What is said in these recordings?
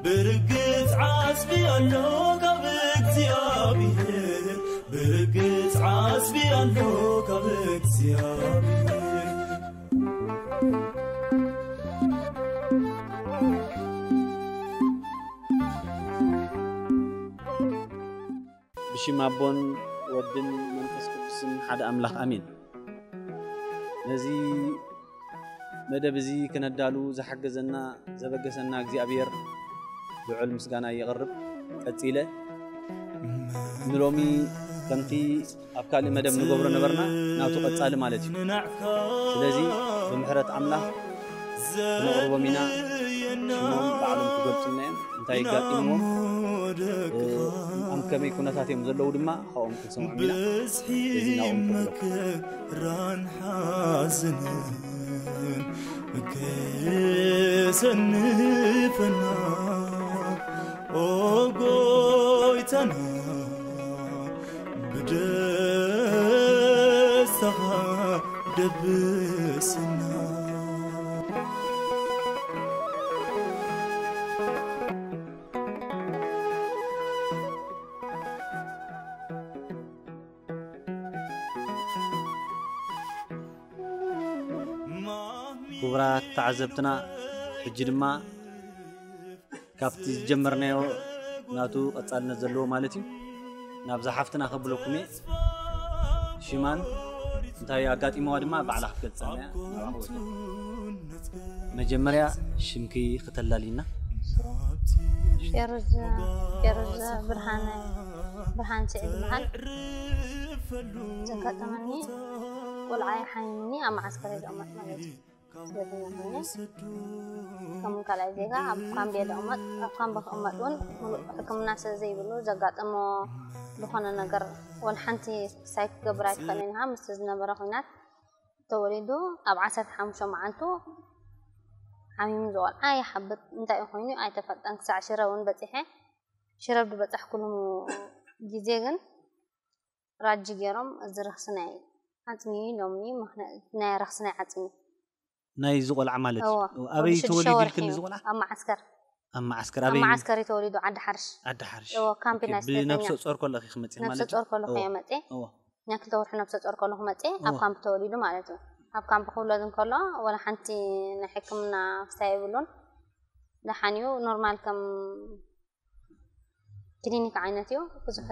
ብርግጽ ዓስቢ ኣሎ ካብ እግዚኣብሔር፣ ብርግጽ ዓስቢ ኣሎ ካብ እግዚኣብሔር። ብሽም ኣቦን ወድን መንፈስ ቅዱስን ሓደ ኣምላኽ ኣሜን። ነዚ መደብ እዚ ክነዳሉ ዝሓገዘና ዘበገሰና እግዚኣብሔር ልዑል ምስጋና የቕርብ። ቀጺለ ንሎሚ ከምቲ ኣብ ካልእ መደብ ንገብሮ ነበርና ናቱ ቀጻሊ ማለት እዩ። ስለዚ ብምሕረት ኣምላኽ ክነቕርቦም ኢና። ሽሞም ባዕሎም ክገልጹልና እዮም። እንታይ ይጋጥምዎም፣ ኣብ ከመይ ኩነታት እዮም ዘለዉ ድማ ካብኦም ክንሰምዖም ኢና። እዚ ናብኦም ክብሎ። መከራን ሓዘንን ከየሰንፈና፣ ኦ ጎይታና፣ ብደስታኻ ደብስና። ክቡራት ተዓዘብትና፣ ሕጂ ድማ ካብቲ ዝጀመርናዮ ናቱ ቀጻልነት ዘለዎ ማለት እዩ፣ ናብዛ ሓፍትና ከብለኩም እየ። ሽማን እንታይ ኣጋጢመዋ ድማ ባዕላ ክትገልጸልና እያ። ናብኣ ክወስዶ። መጀመርያ ሽምኪ ክተላሊና። ፌሩዝ፣ ፌሩዝ ብርሃነ፣ ብርሃን ስዒድ ይበሃል። ዘጋጠመኒ፣ ቆልዓ ሓሚሙኒ ኣብ መዓስከር እየ ዝቕመጥ ማለት እዩ። ስደተኛ ኮይነ ከም ካልኣይ ዜጋ ኣብ ካምፕ እየ ዝቕመጥ። ኣብ ካምፕ ክቕመጥ እውን ሙሉእ ሕክምና ስለ ዘይብሉ ዘጋጠሞ ዝኾነ ነገር ወላ ሓንቲ ሳይ ክገብር ኣይትኽእልን ኢኻ። ምስቲ ዝነበረ ኹናት ተወሊዱ ኣብ ዓሰርተ ሓሙሽተ መዓልቱ ሓሚሙ ዝቖልዓ ይሓብጥ እንታይ እዩ ኮይኑ ኣይተፈልጠን። ክሳዕ ሽረ እውን በጺሐ። ሽረ ብበጻሕኩሉ ግዜ ግን ራጂ ገይሮም እዚ ረኽሲ ናይ ዓጽሚ ኢሎምኒ። ምኽንያት ናይ ረኽሲ ናይ ዓጽሚ ናይ እዚ ቆልዓ ማለት እዩ። እወ። ኣበይ ወዲ ሽዱሽተ ተወሊዱ ወርሒ ኢልክን እዩ። እዚ ቆልዓ? ኣብ መዓስከር። ኣብ መዓስከር ኣብ ኣበይ? መዓስከር እዩ ተወሊዱ፣ ዓዲ ሓርሽ። ዓዲ ሓርሽ። እወ፣ ካምፕ ኦኬ፣ ናይ ስደተኛ። ብነፍሰ ጾር ከለኺ ክመጽእ ነፍሰ ማለት እዩ? ጾር ከለኹ እወ። እየ መጽእ። እወ። ናይ ክልተ ወርሒ ነፍሰ ጾር ከለኹ መጽእ፣ ኣብ እወ። ካምፕ ተወሊዱ ማለት እዩ። ኣብ ካምፕ ክውለድ እንከሎ፣ ወላ ሓንቲ ናይ ሕክምና ክስታይ የብሉን። ደሓን እዩ፣ ኖርማል ከም ክሊኒክ ዓይነት እዩ። ብዙሕ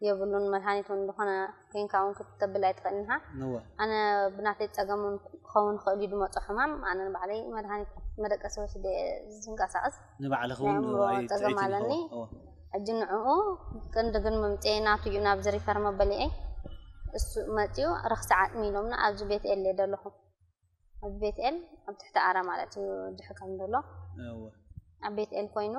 የብሉን። መድሃኒት እውን ዝኾነ ኮይንካ እውን ክትተብል ኣይትኽእልን ኢኻ። እወ። ኣነ ብናተይ ጸገም እውን ክኸውን ይኽእል እዩ ዝመጾ ሕማም። ኣነ ንባዕለይ መድሃኒት መደቀሲ ወሲደ እየ ዝንቀሳቐስ። ንባዕልኺ ናይ እውን ኣእምሮ ጸገም ኣይትርእይን ኣለኒ። ኢኺ። እወ። ሕጂ ንዕኡ ክንዲ ግን መምጽኤ ናቱ እዩ ናብዚ ሪፈር መበሊዐይ። እሱ መጺኡ ረኽሲ ዓጽሚ ኢሎምና ኣብዚ ቤት ኤል እየ ዘለኹ። ኣብ ቤት ኤል ኣብ ትሕቲ ኣራ ማለት እዩ ድሕከም ዘሎ። እወ። ኣብ ቤት ኤል ኮይኑ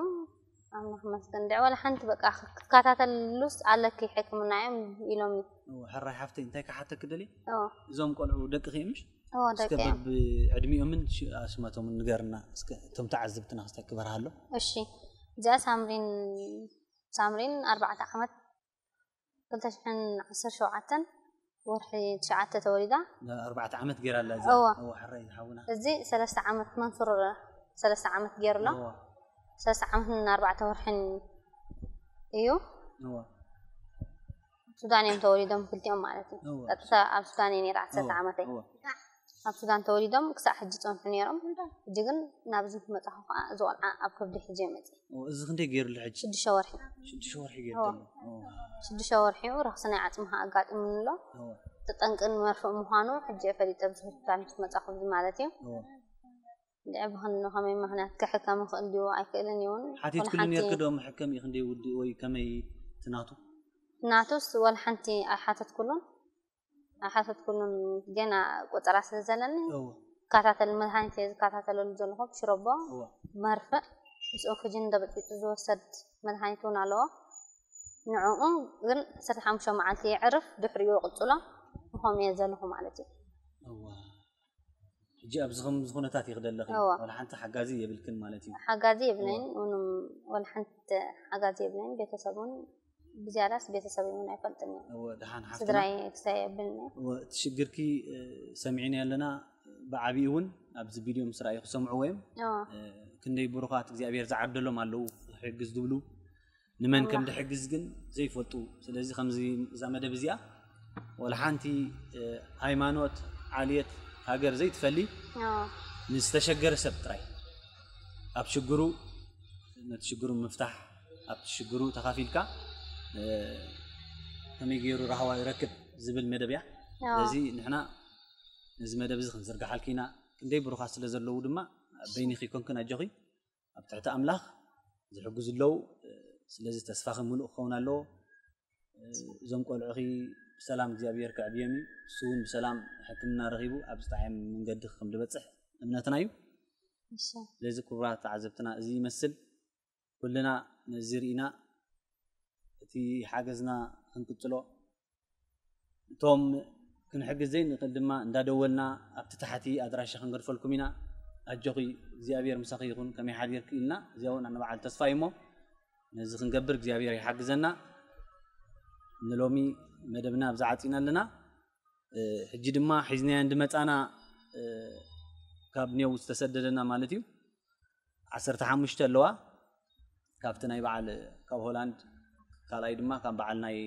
ኣምላኽ ይመስገን። ድዕ ወላ ሓንቲ በቃ ክትከታተሉስ ኣለኪ ሕክምና እዮም ኢሎምኒ። እወ፣ ሕራይ ሓፍተይ እንታይ ክሓተኪ ደልየ? እወ። እዞም ቆልዑ ደቅኺ እዮም ምሽ? እወ፣ እስከ ደቂ እዮም። በብዕድሚኦምን ሽ-፣ ኣስማቶምን ንገርና እስከ እቶም ተዓዘብትና ክስታይ ክበርሃሎ። እሺ። እዚኣ ሳምሪን፣ ሳምሪን ኣርባዕተ ዓመት ክልተ ሽሕን ዓሰርተ ሸውዓተን ወርሒ ትሽዓተ ተወሊዳ። ኣርባዕተ ዓመት ገይራ ኣላ እዚኣ። እወ። እወ፣ ሕራይ ሓውና። እዚ ሰለስተ ዓመት መንሱር ሰለስተ ዓመት ገይሩ ኣሎ። እወ። ሰለስተ ዓመትን ኣርባዕተ ወርሕን እዩ። እወ። ሱዳን እዮም ተወሊዶም ክልቲኦም ማለት እዩ። እወ። ቀጥታ ኣብ ሱዳን እየ ነይረ ዓሰርተ እወ። ዓመተይ። እወ። ኣብ ሱዳን ተወሊዶም ክሳዕ ሕጂ ጸንሑ ነይሮም። ሕጂ ግን ናብዚ ክመጻኹ ከኣ እዚ ቆልዓ ኣብ ከብዲ ሒዘ መጽእ። እወ፣ እዚ ክንደይ ገይሩሉ ሕጂ? ሽዱሽተ ወርሒ። ሽዱሽተ ወርሒ ገይሩ እወ። ዘሎ። እወ። ሽዱሽተ ወርሒኡ ረኽሲ ናይ ዓጽሚ ከኣ ኣጋጢሙኒ ኣሎ። እወ። ተጠንቅን መርፍእ ምዃኑ ሕጂ እየ ፈሊጠ ኣብዚ ሆስፒታል ምስ መጻኹ እዚ ማለት እዩ። እወ። እንድዒ ብኸንዲ ከመይ ምኽንያት ክሕከም ይኽእል ድዩ ኣይክእልን እዩ እውን ሓቲትክሉ ወላ ሓንቲ ነርኪ ዶ መሐከሚ ክንደይ ውዲ ወይ ከመይ ትናቱ? ናቱስ ወላ ሓንቲ ኣይሓተትኩሉን። ኣይሓተትኩሉን ገና ቆጸራ ስለ ዘለኒ እወ። እከታተል መድሃኒት እየ ዝከታተለሉ ዘለኹ ብሽረቦ እወ። መርፍእ ምስ ኦክስጅን ተበጥቢጡ ዝወሰድ መድሃኒት እውን ኣለዎ። ንዕኡ ግን ዓሰርተ ሓሙሽተ መዓልቲ የዕርፍ ድሕሪኡ ይቕጽሎ። ከምኡ እየ ዘለኹ ማለት እዩ። እወ። ሕጂ ኣብዚ ከምዚ ኩነታት እዩ ክደለኺ እወ። ወላ ሓንቲ ሓጋዚ የብልክን ማለት እዩ። ሓጋዚ የብለይን እወ። ምንም ወላ ሓንቲ ሓጋዚ የብለይን ቤተሰብ እውን ብዝያዳስ ቤተሰብ እውን ኣይፈልጥን እዮም እወ፣ ደሓን ሓፍትና። ስድራይ ክሳይ የብልኒ እወ፣ እቲ ሽግርኪ እ፣ ሰሚዕና ኣለና ብዓቢኡ እውን ኣብዚ ቪድዮ ምስ ረኣዩ ክሰምዕዎ እዮም እወ። እ፣ ክንደይ ብሩኻት እግዚኣብሔር ዝዓደሎም ኣለዉ፣ ክሕግዝ ዝብሉ፣ ንመን ከም ድሕግዝ ግን ዘይፈልጡ። ስለዚ ከምዚ እዛ መደብ እዚኣ ወላ ሓንቲ፣ እ፣ ሃይማኖት፣ ዓልየት፣ ሃገር ዘይትፈሊ፣ ኣዎ። ንዝተሸገረ ሰብ ጥራይ ኣብ ሽግሩ፣ ነቲ ሽግሩ ምፍታሕ፣ ኣብቲ ሽግሩ ተኻፊልካ፣ እ፣ ከመይ ገይሩ ራህዋ ይረክብ ዝብል መደብ እያ። ኣዎ። ስለዚ ንሕና ነዚ መደብ እዚ ክንዝርግሓልኪ ኢና። ክንደይ ብሩኻት ስለ ዘለዉ ድማ በይንኺ ኮንክን ኣጆኺ። ኣብ ትሕቲ ኣምላኽ ዝሕግዙ ኣለዉ። ስለዚ ተስፋኺ ምሉእ ክኸውን ኣለዎ። እዞም ቆልዑኺ ብሰላም እግዚኣብሔር ከዕብዮም እዩ። እሱ እውን ብሰላም ሕክምና ረኺቡ ኣብ ዝጠዓም መንገዲ ከም ዝበጽሕ እምነትና እዩ። እሺ። ስለዚ ክቡራት ተዓዘብትና እዚ ይመስል። ኩልና ነዚ ርኢና እቲ ሓገዝና ክንቅጽሎ፣ እቶም ክንሕግዝ ዘይንኽእል ድማ እንዳደወልና ኣብቲ ታሕቲ ኣድራሻ ክንገድፈልኩም ኢና። ኣጆኺ እግዚኣብሔር ምሳኺ ይኹን፣ ከመይ ሓዲርኪ ኢልና እዚኣ እውን ንበዓል ተስፋ እዩ እሞ ነዚ ክንገብር እግዚኣብሔር ይሓግዘና። ንሎሚ መደብና ኣብዚ ዓጺና ኣለና። እ፣ ሕጂ ድማ ሒዝናዮ እንድመጻና፣ እ፣ ካብ ኔው ዝተሰደደና ማለት እዩ። ዓሰርተ ሓሙሽተ ኣለዋ። ካብቲ ናይ በዓል ካብ ሆላንድ፣ ካልኣይ ድማ ካብ በዓል ናይ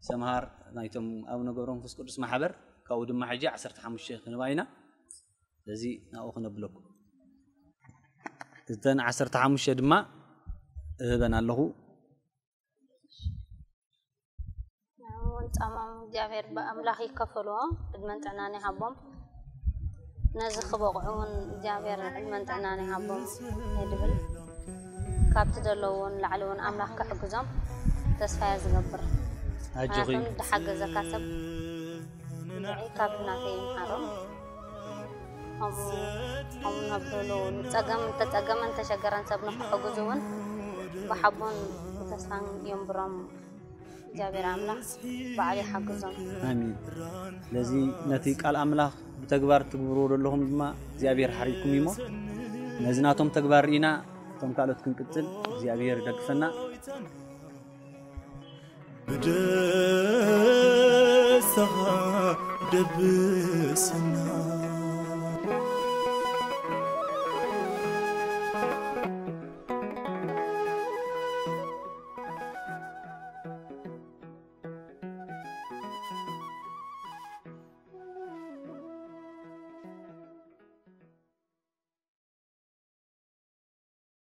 ሰምሃር ናይቶም ኣቡነ ገብረ መንፈስ ቅዱስ ማሕበር፣ ካብኡ ድማ ሕጂ ዓሰርተ ሓሙሽተ ክንባ ኢና። ስለዚ ናብኡ ክነብለኩም። እተን ዓሰርተ ሓሙሽተ ድማ እህበን ኣለኹ። እውን ጻምኦም እግዚኣብሔር ብኣምላኽ ይከፈልዎ፣ ዕድመን ጥዕናን ይሃቦም። ነዚ ክበቕዑ እውን እግዚኣብሔር ዕድመን ጥዕናን ይሃቦም እየ ድብል። ካብቲ ዘለዉ እውን ላዕሊ እውን ኣምላኽ ክሕግዞም ተስፋ እየ ዝገብር። ኣጆኺ። ምኽንያቱ ዝሓገዘካ ሰብ ንዕይ ካብ ናተይ ይምሃሮም። ከምኡ፣ ከምኡ ነብሉ ጸገም፣ እንተጸገመን እንተሸገረን ሰብ ንኽሕግዙ እውን ብሓቦን ብተስፋን የንብሮም። እግዚኣብሔር ኣምላኽ በዓል ይሓግዞም። ኣሚን። ስለዚ ነቲ ቃል ኣምላኽ ብተግባር ትግብርዎ ዘለኹም ድማ እግዚኣብሔር ሓሪኩም እዩሞ፣ ነዚ ናቶም ተግባር ርኢና እቶም ካልኦት ክንቅጽል እግዚኣብሔር ይደግፈና። ብደስታ ደብሰና።